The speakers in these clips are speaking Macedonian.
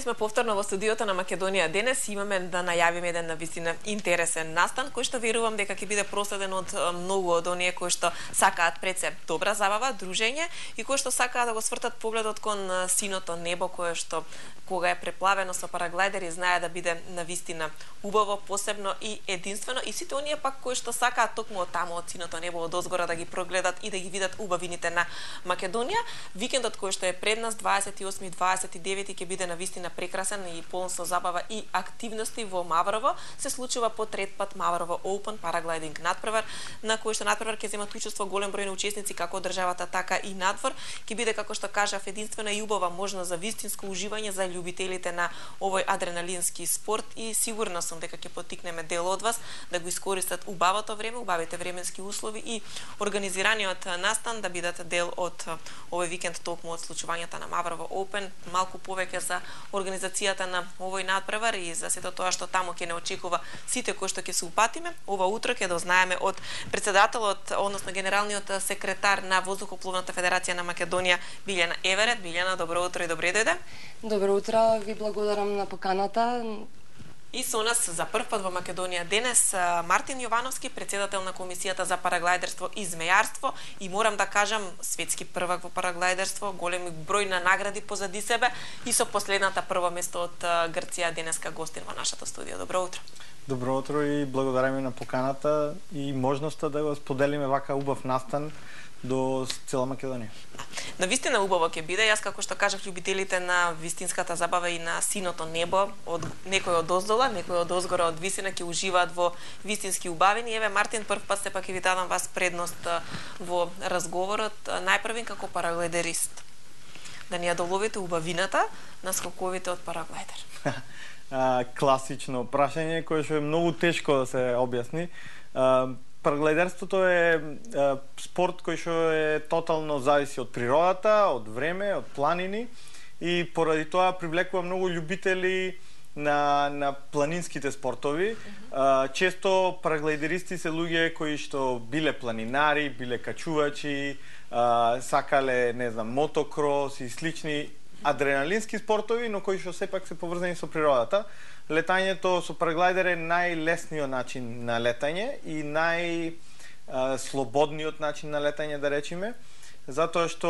сме повторно во студиото на Македонија денес. Имаме да најавиме еден навистина интересен настан, кој што верувам дека ќе биде проследен од многу од оние кои што сакаат пред се добра забава, дружење и кои што сакаат да го свртат погледот кон синото небо, кое што кога е преплавено со параглайдери знае да биде навистина убаво, посебно и единствено, и сите оние пак кои што сакаат токму од таму од синото небо од озгора да ги прогледат и да ги видат убавините на Македонија. Викендот кој што е пред нас 28 и 29 ќе биде навистина прекрасен и полн со забава и активности во Маврово. Се случува по трет пат Маврово Open параглайдинг надпревар, на кој што надпревар ќе земат учество голем број на учесници како од државата, така и надвор. Ќе биде, како што кажав, единствена и убава можност за вистинско уживање за љубителите на овој адреналински спорт и сигурна сум дека ќе поттикнеме дел од вас да го искористат убавото време, убавите временски услови и организираниот настан да бидат дел од овој викенд токму од случувањата на Маврово Open. Малку повеќе за организацијата на овој надпревар и за сето тоа што таму ќе не очекува сите кои што ќе се упатиме. Ова утро ќе дознаеме од председателот, односно генералниот секретар на Воздухопловната федерација на Македонија Билјана Еверет. Билјана, добро утро и добре дојде. Добро утро, ви благодарам на поканата. И со нас за прв пат во Македонија денес Мартин Јовановски, председател на Комисијата за параглайдерство и змејарство, и морам да кажам светски првак во параглайдерство, големи број на награди позади себе и со последната прво место од Грција денеска гостин во нашето студио. Добро утро. Добро утро и благодараме на поканата и можноста да го споделиме вака убав настан до цела Македонија. Навистина убаво ќе биде. Јас, како што кажав, љубителите на вистинската забава и на синото небо, од некој од оздола, некој од озгора, од висина ќе уживаат во вистински убавини. Еве, Мартин, прв пат сепак ќе ви дадам вас предност во разговорот. Најпрвин како параглайдерист. Да ни ја доловите убавината на скоковите од параглайдер. Класично прашање кое што е многу тешко да се објасни. Параглайдерството е спорт кој што е тотално зависи од природата, од време, од планини и поради тоа привлекува многу љубители на планинските спортови. Често параглайдеристи се луѓе кои што биле планинари, биле качувачи, сакале, не знам, мотокрос и слични адреналински спортови, но кои што сепак се поврзани со природата. Летањето со параглайдер е најлесниот начин на летање и најслободниот начин на летање, да речеме, затоа што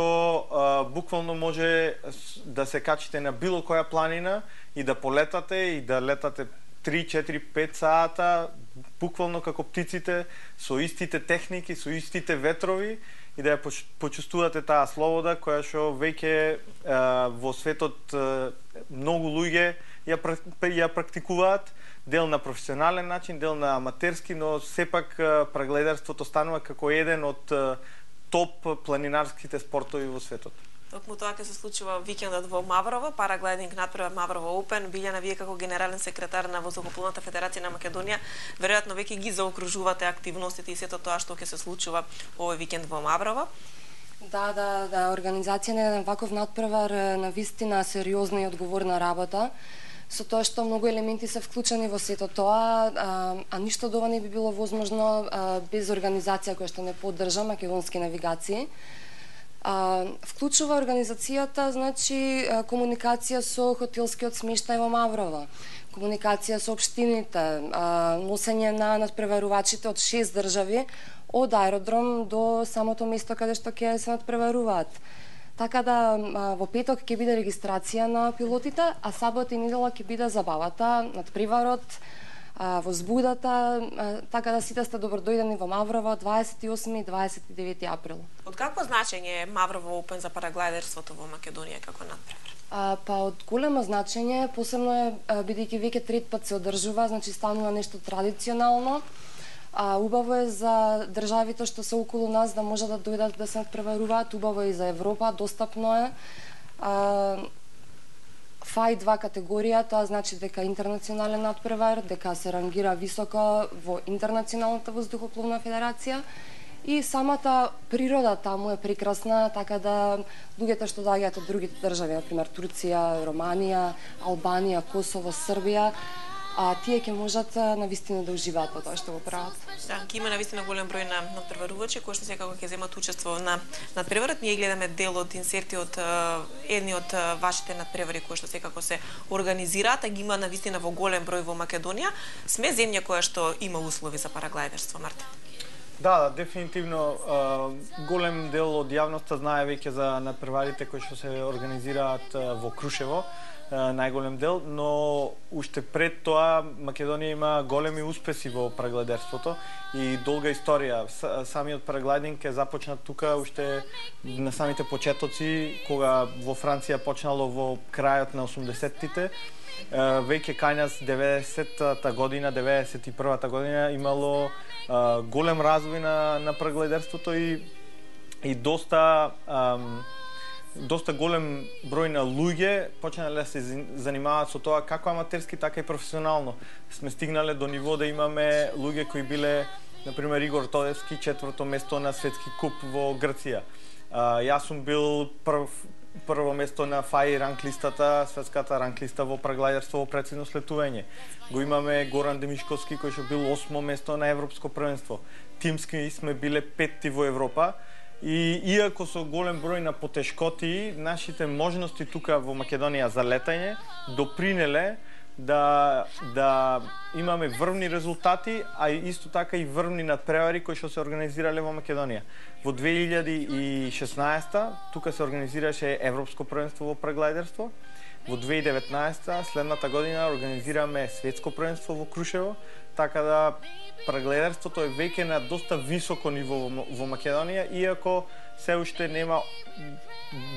буквално може да се качите на било која планина и да полетате и да летате 3, 4, 5 сата, буквално како птиците, со истите техники, со истите ветрови и да ја почувствувате таа слобода која што веќе во светот многу луѓе ја практикуваат, дел на професионален начин, дел на аматерски, но сепак параглайдерството станува како еден од топ планинарските спортови во светот. Токму тоа ќе се случува викендот во Маврово, параглайдинг надпревар Маврово Open. Билјана, вие како генерален секретар на Воздухопловната федерација на Македонија, веројатно веќе ги заокружувате активностите и сето тоа што ќе се случува овој викенд во Маврово. Да, организација на еден ваков надпревар е навистина сериозна и одговорна работа, со тоа што многу елементи се вклучени во сето тоа, а ништо од ова не би било возможно без организација која што не поддржа Македонски навигации. Вклучува организацијата, значи, комуникација со хотелскиот смештај во Маврово, комуникација со општините, носење на надпреварувачите од 6 држави, од аеродром до самото место каде што ќе се надпреваруваат. Така да во петок ќе биде регистрација на пилотите, а сабота и недела ќе биде забавата, надпреварот, возбудата, така да сите сте добродојдени во Маврово 28 и 29 април. Од какво значење е Маврово Open за параглайдерството во Македонија како надпревар? Па од големо значење, посебно е бидејќи веќе трет пат се одржува, значи станува нешто традиционално. Убаво е за државите што се околу нас да може да дојдат да се надпреваруваат, убаво е и за Европа, достапно е. ФАИ 2 категорија, тоа значи дека интернационален надпревар, дека се рангира високо во Интернационалната воздухопловна федерација и самата природа таму е прекрасна, така да луѓето што доаѓаат од другите држави, например Турција, Романија, Албанија, Косово, Србија, тие ќе можат навистина да уживаат во тоа што го прават. Да, ќе има навистина голем број на надпреварувачи кои што секако ќе земат учество на надпреварот. Ние гледаме дел од инсерти од едни од вашите надпревари кои што секако се организираат, а ги има навистина во голем број во Македонија. Сме земја која што има услови за параглајдерство, Мартин. Да, дефинитивно голем дел од јавноста знае веќе за надпреварите кои што се организираат во Крушево, најголем дел, но уште пред тоа Македонија има големи успеси во параглајдерството и долга историја. Самиот параглајдинг е започнат тука уште на самите почетоци, кога во Франција почнало во крајот на 80-тите. Веќе кај нас 90-та година, 91-та година имало голем развој на параглајдерството и доста голем број на луѓе почнале да се занимаваат со тоа како аматерски, така и професионално. Сме стигнале до ниво да имаме луѓе кои биле, например, Игор Тодевски, 4-то место на светски куп во Грција. Јас сум бил прво место на FAI ранглистата, светската ранглиста во параглајдерство во прецизно слетување. Го имаме Горан Демишковски кој што бил 8-мо место на европско првенство. Тимски сме биле 5-ти во Европа. И иако со голем број на потешкоти, нашите можности тука во Македонија за летање допринеле да имаме врвни резултати, а исто така и врвни надпревари кои што се организирале во Македонија. Во 2016 тука се организираше Европско првенство во параглајдерство. Во 2019 следната година организираме светско првенство во Крушево, така да параглајдерството е веќе на доста високо ниво во Македонија, иако се уште нема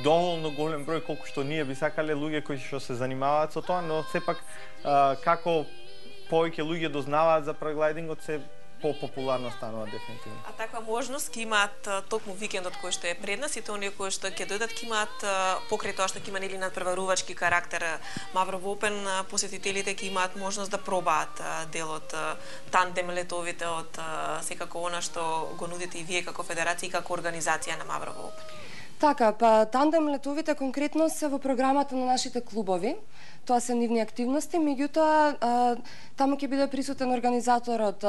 доволно голем број колку што ние би сакале луѓе кои што се занимаваат со тоа, но сепак како повеќе луѓе дознаваат за параглајдингот, се популарно станува дефинитивно. А таква можност ќе имаат токму викендот кој што е пред нас и тоа оние кои што ќе дојдат ќе имаат покрај тоа што ќе има нели надпреварувачки карактер Маврово Опен, посетителите ќе имаат можност да пробаат дел од тандем летовите од секако она што го нудите и вие како федерација и како организација на Маврово Опен. Така, па тандем летовите конкретно се во програмата на нашите клубови. Тоа се нивни активности, меѓутоа таму ќе биде присутен организаторот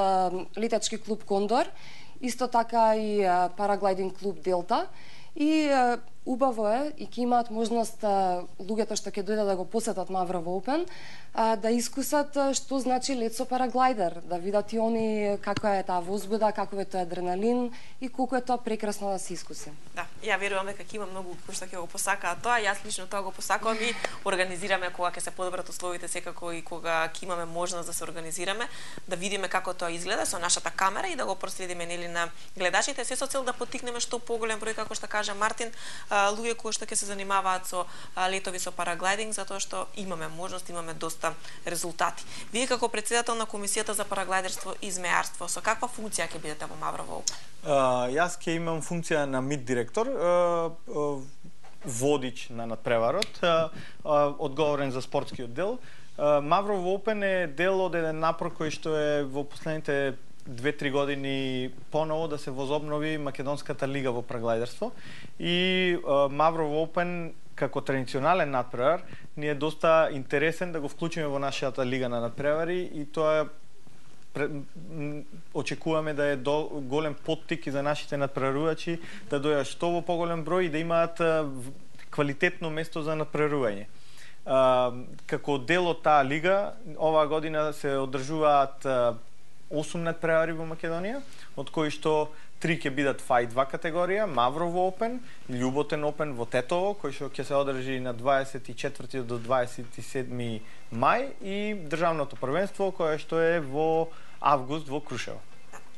летачки клуб Кондор, исто така и параглајдинг клуб Делта и убаво е и ќе имаат можност луѓето што ќе дојдат да го посетат Маврово Опен да искусат што значи лет со параглајдер, да видат и они каква е таа возбуда, каков е тој адреналин и колку е тоа прекрасно да се искуси. Да, ја верувам дека ќе има многу кои што ќе го посакаат тоа, јас лично тоа го посакувам и организираме кога ќе се подобрат условите секако и кога ќе имаме можност да се организираме, да видиме како тоа изгледа со нашата камера и да го проследиме нели на гледачите, се со цел да поттикнеме што поголем број, како што кажа Мартин, луѓе кои што ќе се занимаваат со летови со параглајдинг, затоа што имаме можност, имаме доста резултати. Вие како председател на Комисијата за параглајдерство и змејарство, со каква функција ќе бидете во Маврово Опен? Јас ќе имам функција на МИД директор, водич на надпреварот, одговорен за спортскиот дел. Маврово Опен е дел од еден напор кој што е во последните 2-3 години поново да се возобнови Македонската лига во параглајдерство и Маврово Опен како традиционален надпревар ни е доста интересен да го вклучиме во нашата лига на надпревари и тоа очекуваме да е голем поттик и за нашите надпреварувачи да дојдат што во поголем број и да имаат квалитетно место за надпреварување. Како дел од таа лига, оваа година се одржуваат 8 надпревари во Македонија, од кои што 3 ќе бидат FAI 2 категорија, Маврово Опен, Љуботен Опен во Тетово, кој што ќе се одржи на 24 до 27 мај и државното првенство кое што е во август во Крушево.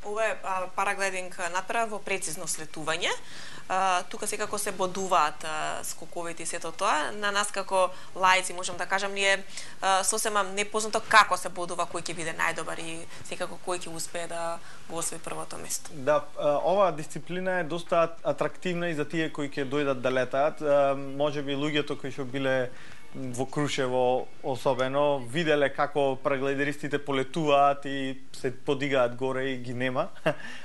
Ова е параглајдинг надпревар во прецизно слетување. Тука секако се бодуваат скоковите и сето тоа. На нас како лаици можам да кажам ние сосема непознато како се бодува кој ќе биде најдобар и секако кој ќе успее да го освои првото место. Да, оваа дисциплина е доста атрактивна и за тие кои ќе дојдат да летаат. Можеби луѓето кои што биле во Крушево особено виделе како параглајдеристите полетуваат и се подигаат горе и ги нема.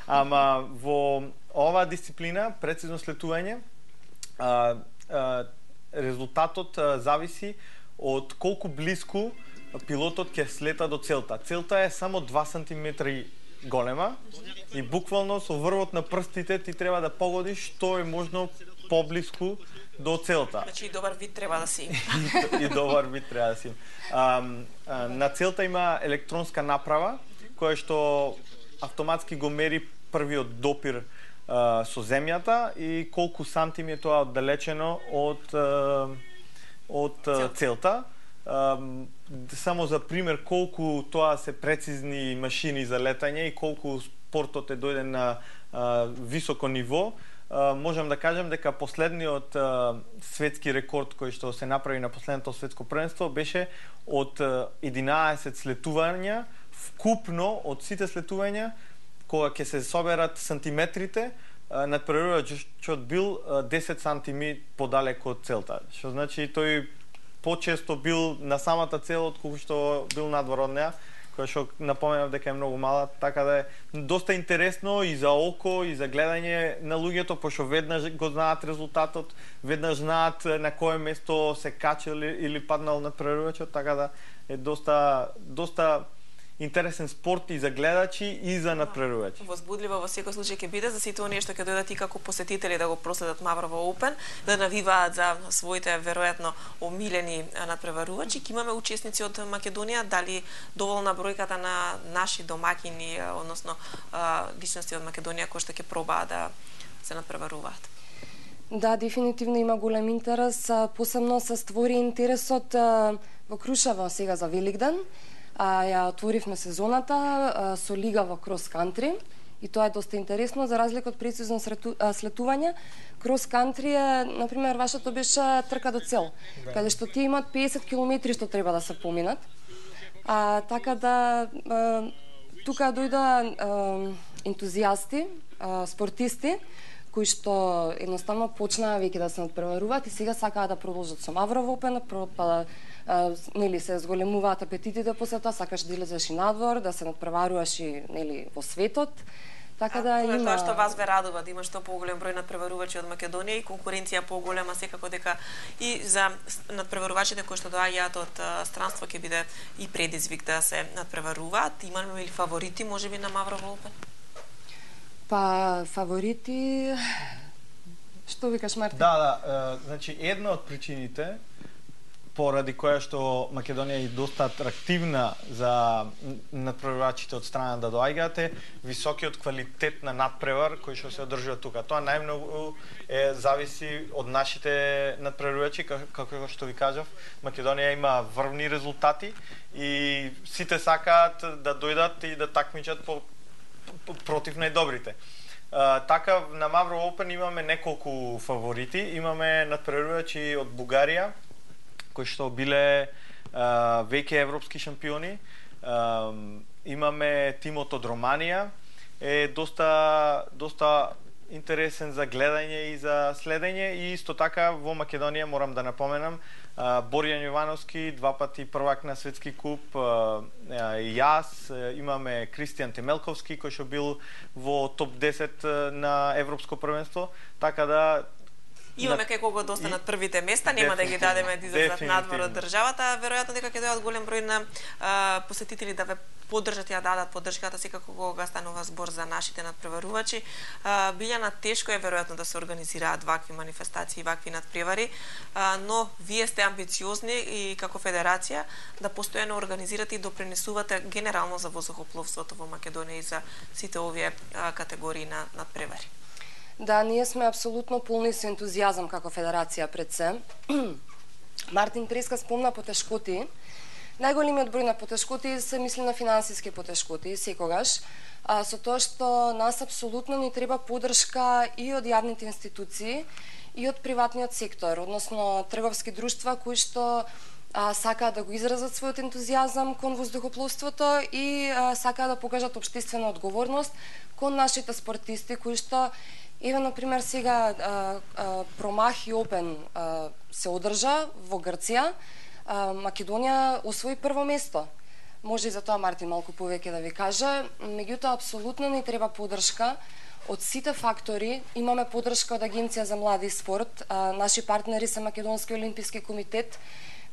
Ама во оваа дисциплина, прецизно слетување, резултатот зависи од колку блиску пилотот ќе слета до целта. Целта е само 2 сантиметри голема и буквално со врвот на прстите ти треба да погодиш што е можно поблиску до целта. Значи и добар вид треба да си. И добар вид треба да си. На целта има електронска направа која што автоматски го мери првиот допир со земјата и колку сантими е тоа оддалечено од целта. Само за пример колку тоа се прецизни машини за летање и колку спортот е дојден на високо ниво, можам да кажам дека последниот светски рекорд кој што се направи на последното светско првенство беше од 11 слетувања, вкупно од сите слетувања кога ќе се соберат сантиметрите, надпреварувачот бил 10 сантими подалеку од целта. Што значи тој почесто бил на самата цел отколку што бил надвор од неа, која што напоменав дека е многу мала, така да е доста интересно и за око и за гледање на луѓето, пошто веднаш го знаат резултатот, веднаш знаат на кое место се качил или паднал надпреварувачот, така да е доста интересен спорт и за гледачи и за надпреварувачи. Возбудливо во секој случај ќе биде за сите оние што ќе дојдат и како посетители да го проследат Маврово Open, да навиваат за своите веројатно омилени надпреварувачи. Ќе имаме учесници од Македонија, дали доволна бројката на наши домакини, односно личности од Македонија кои што ќе пробаат да се надпреваруваат? Да, дефинитивно има голем интерес, посебно се створи интересот во Крушево сега за Великден. Ја отворивме сезоната со лига во крос кантри и тоа е доста интересно за разлика од прецизно слетување. Крос кантри е, например, вашето беше трка до цел, каде што тие имаат 50 километри што треба да се поминат. Така да тука дојда ентузијасти, спортисти кои што едноставно почнаа веќе да се надпреваруваат и сега сакаат да продолжат со Маврово Open, нели се зголемуваат апетитите после тоа, сакаш да излезеш и надвор, да се надпреваруваш и нели во светот. Така да има тоа што вас ве радува да има што поголем број надпреварувачи од Македонија и конкуренција поголема, секако дека и за надпреварувачите кои што доаѓаат од странство ќе биде и предизвик да се надпреваруваат. Имаме ли фаворити можеби на Маврово Open? Па фаворити што викаш, Мартин? Да, значи една од причините поради која што Македонија е доста атрактивна за надпреварувачите од страна да доаѓаат е високиот квалитет на надпревар кој што се одржува тука. Тоа најмногу зависи од нашите надпреварувачи, како што ви кажав. Македонија има врвни резултати и сите сакаат да дојдат и да такмичат против најдобрите. Така на Маврово Open имаме неколку фаворити. Имаме надпреварувачи од Бугарија кои што биле веќе европски шампиони. Имаме тимот од Романија, е доста интересен за гледање и за следење и исто така во Македонија морам да напоменам Боријан Јовановски, 2 пати првак на светски куп, јас, имаме Кристијан Темелковски кој што бил во топ 10 на европско првенство, така да имаме кај кого доста над првите места, нема да ги дадеме да излезат надвор од државата, веројатно дека ќе дојдат голем број на посетители да ве поддржат и да дадат поддршката секако кога станува збор за нашите надпреварувачи. Билјана, тешко е веројатно да се организираат вакви манифестации, вакви надпревари, но вие сте амбициозни и како федерација да постојано организирате и допринесувате генерално за воздухопловството во Македонија и за сите овие категории на надпревари. Да, ние сме апсолутно полни со ентузијазам како федерација пред се. Мартин преска спомна потешкоти. Најголемиот број на потешкоти се мисли на финансиски потешкоти секогаш, со тоа што нас апсолутно ни треба поддршка и од јавните институции и од приватниот сектор, односно трговски друштва кои што сакаат да го изразат својот ентузијазам кон воздухопловството и сакаат да покажат општествена одговорност кон нашите спортисти кои што еве, например, сега Промахи Open се одржа во Грција, Македонија освои прво место. Може и за тоа Мартин малку повеќе да ви каже, меѓутоа апсолутно ни треба поддршка од сите фактори. Имаме поддршка од Агенција за млади спорт, наши партнери се Македонски олимписки комитет,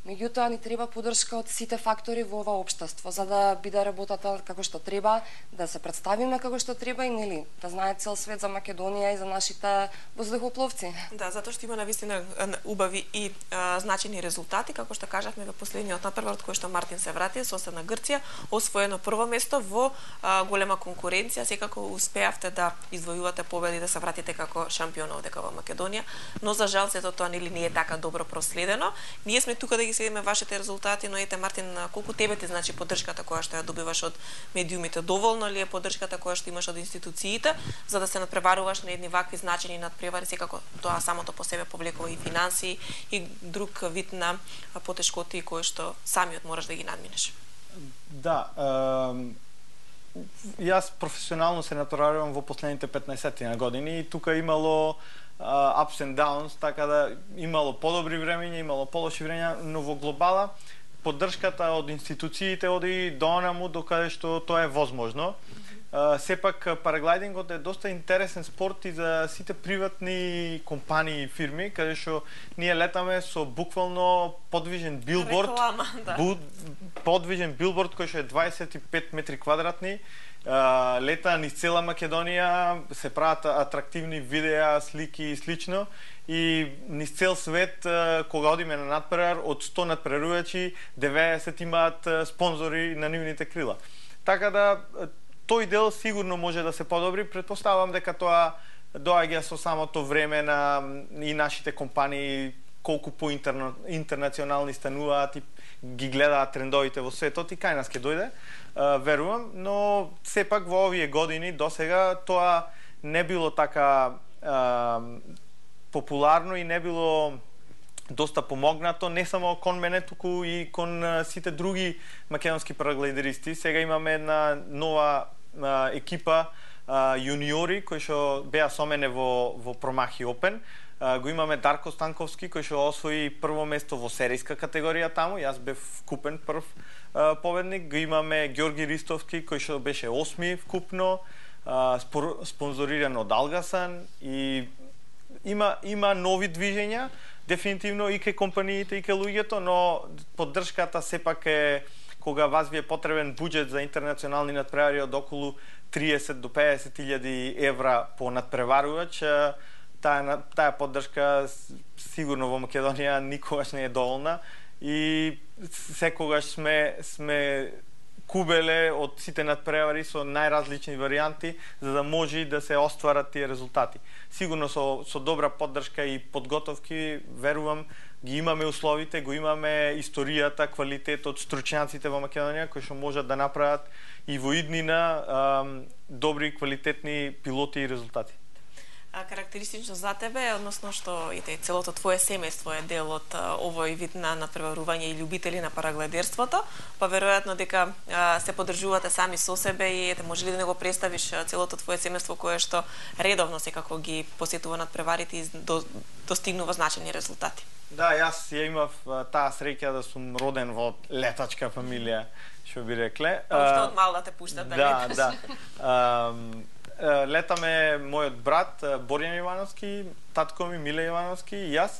Меѓутоа ни треба поддршка од сите фактори во ова општество за да биде работата како што треба, да се представиме како што треба и нели да знае цел свет за Македонија и за нашите воздухопловци. Да, затоа што има навистина убави и значени резултати, како што кажавме во последниот надпревар кој што Мартин се врати, соседна Грција, освоено прво место во голема конкуренција, секако успеавте да извојувате победи, да се вратите како шампион овдека во Македонија, но за жал сето тоа нели не е така добро проследено. Ние сме тука да ги следиме вашите резултати, но ете Мартин, колку тебе ти значи поддршката која што ја добиваш од медиумите? Доволно ли е поддршката која што имаш од институциите за да се надпреваруваш на едни вакви значени надпревари, секако тоа самото по себе повлекува и финанси и друг вид на потешкоти кои што самиот мораш да ги надминеш? Да, јас професионално се натпреварувам во последните 15 години и тука имало ups and downs, така да имало подобри времења, имало полоши времења, но во глобала поддршката од институциите оди донаму докаде што тоа е возможно. Сепак параглайдингот е доста интересен спорт и за сите приватни компании и фирми, каде што ние летаме со буквално подвижен билборд, реклама, да. Подвижен билборд кој што е 25 метри квадратни, лета низ цела Македонија, се прават атрактивни видеа, слики и слично, и низ цел свет кога одиме на надпревар, од 100 надпреварувачи 90 имаат спонзори на нивните крила. Така да тој дел сигурно може да се подобри. Претпоставам дека тоа доаѓа со самото време на и нашите компании, колку интернационални стануваат и ги гледаат трендовите во светот и кај нас ќе дојде, верувам, но сепак во овие години досега тоа не било така популарно и не било доста помогнато, не само кон мене, туку и кон сите други македонски параглайдеристи. Сега имаме една нова екипа јуниори кои што беа со мене во Промахи Опен. Го имаме Дарко Станковски кој што освои прво место во серијска категорија таму, јас бев вкупен прв победник. Го имаме Ѓорги Ристовски кој што беше 8ми вкупно, спонзориран од Алгасан, и има нови движења дефинитивно и кај компаниите и кај луѓето, но поддршката сепак е кога вас ви е потребен буџет за интернационални надпревари од околу 30 до 50.000 евра по надпреварувач, таа поддршка сигурно во Македонија никогаш не е доволна и секогаш сме кубеле од сите надпревари со најразлични варијанти за да може да се остварат тие резултати. Сигурно со добра поддршка и подготовки, верувам, ги имаме условите, го имаме историјата, квалитетот, стручњаците во Македонија кои што можат да направат и во иднина добри квалитетни пилоти и резултати. Карактеристично за тебе е односно што целото твое семејство е дел од овој вид на надпреварување и љубители на параглайдерството, па веројатно дека се поддржувате сами со себе и може ли да не го представиш целото твое семејство кое што редовно секако ги посетува надпреварите и достигнува значени резултати? Да, јас ја имав таа среќа да сум роден во летачка фамилија, што би рекле. Уште од мал да те пуштат да леташ. Да. Летаме мојот брат Борјан Ивановски, татко ми Миле Ивановски и јас.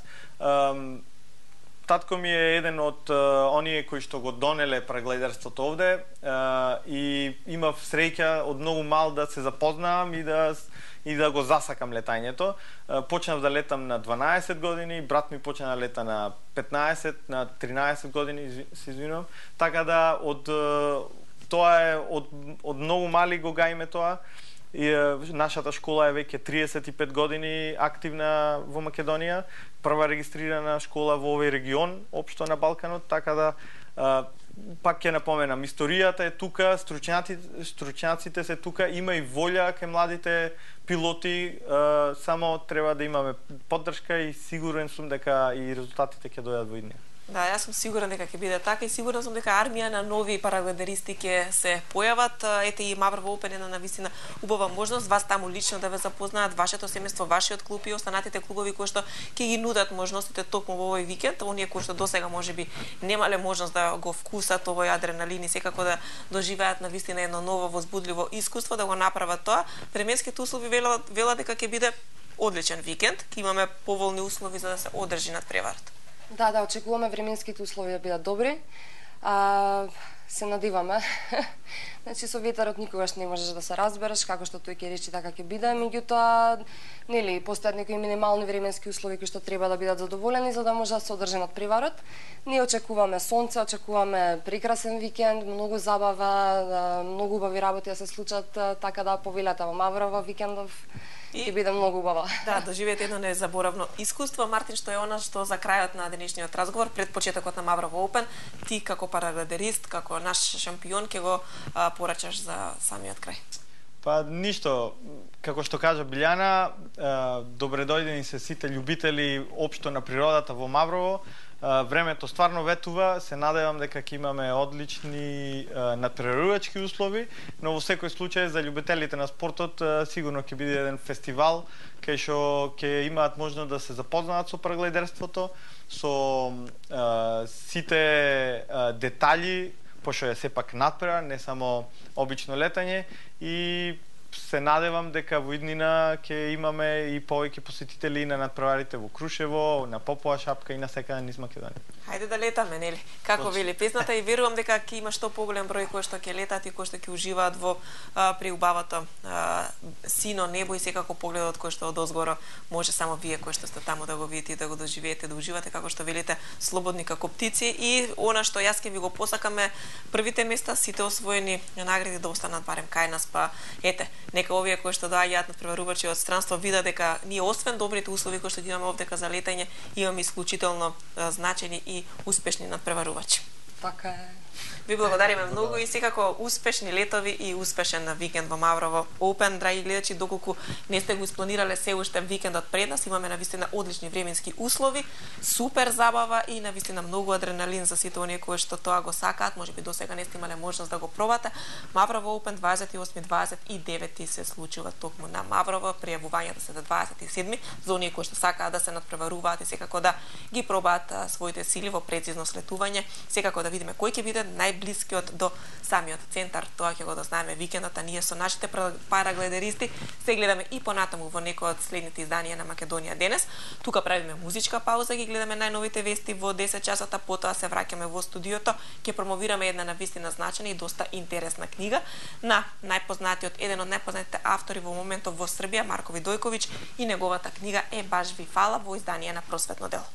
Татко ми е еден од оние кои што го донеле параглайдерството овде и имав среќа од многу мал да се запознавам и да го засакам летањето. Почнав да летам на 12 години, брат ми почна да лета на 15, на 13 години, се извинувам. Така да тоа е од многу мали го гаиме тоа. И нашата школа е веќе 35 години активна во Македонија, прва регистрирана школа во овој регион, општо на Балканот, така да пак ќе напоменам, историјата е тука, стручњаците се тука, има и волја кај младите пилоти, само треба да имаме поддршка и сигурен сум дека и резултатите ќе дојдат во иднина. Да, јас сум сигурен дека ќе биде така и сигурна сум дека армија на нови параглайдеристи ќе се појават. Ете и Маврово Опен е на навистина убава можност вас таму лично да ве запознаат, вашето семејство, вашиот клуб и останатите клубови кои што ќе ги нудат можностите токму во овој викенд, оние кои што досега можеби немале можност да го вкусат овој адреналин и секако да доживеат навистина едно ново возбудливо искуство, да го направат тоа. Временските услови велат дека ќе биде одличен викенд, ќе имаме поволни услови за да се одржи надпреварата. Да, очекуваме временските услови да бидат добри. Се надиваме. Значи со ветерот никогаш не можеш да се разбереш како што тој ќе речи така ќе биде, меѓутоа нели постојат некои минимални временски услови кои што треба да бидат задоволени за да може да се одржи надпреварот. Ние очекуваме сонце, очекуваме прекрасен викенд, многу забава, многу убави работи да се случат, така да повелете во Маврово викендов ќе биде многу убава. Да, доживеете едно незаборавно искуство. Мартин, што е она што за крајот на денешниот разговор, пред почетокот на Маврово Open, ти како парагледерист, како наш шампион, ќе го порачаш за самиот крај? Па ништо, како што кажа Билјана, добре дојдени се сите љубители општо на природата во Маврово. Времето стварно ветува, се надевам дека ќе имаме одлични надпреварувачки услови, но во секој случај за љубителите на спортот сигурно ќе биде еден фестивал кај што ќе имаат можност да се запознаат со параглайдерството, со сите детали, пошто е сепак надпревар, не само обично летање, и се надевам дека во иднина ќе имаме и повеќе посетители на надпреварите во Крушево, на Попова шапка и на секаде низ Македонија. Хајде да летаме, нели? Како вели песната, и верувам дека ќе има што поголем број кои што ќе летат и кои што ќе уживаат во преубавото сино небо и секако погледот кој што одозгоро може само вие кои што сте таму да го видите и да го доживеете, да уживате како што велите слободни како птици. И она што јас ќе ви го посакаме, првите места сите освоени награди да останат барем кај нас, па ете, нека овие кои што доаѓаат надпреварувачи од странство видат дека ние освен добрите услови кои што имаме овдека за летање, имаме исклучително значени и успешни надпреварувачи. Така е. Ви благодариме многу и секако успешни летови и успешен викенд во Маврово Open. Драги гледачи, доколку не сте го испланирале се уште викендот пред нас, имаме навистина одлични временски услови, супер забава и навистина многу адреналин за сите оние кои што тоа го сакаат. Можеби досега не сте имале можност да го пробате. Маврово Open 28-29 се случува токму на Маврово, пријавувањето се до 27 за оние кои што сакаат да се надпреваруваат и секако да ги пробаат своите сили во прецизно слетување, секако да видиме кој ќе биде најблискиот до самиот центар. Тоа ќе го дознаеме викендот, а ние со нашите парагледеристи се гледаме и понатаму во некој од следните изданија на Македонија денес. Тука правиме музичка пауза, ги гледаме најновите вести во 10 часот, потоа се враќаме во студиото, ќе промовираме една навистина значена и доста интересна книга на еден од најпознатите автори во моментот во Србија, Марко Видојковиќ, и неговата книга е Баш ви фала во изданија на Просветно дело.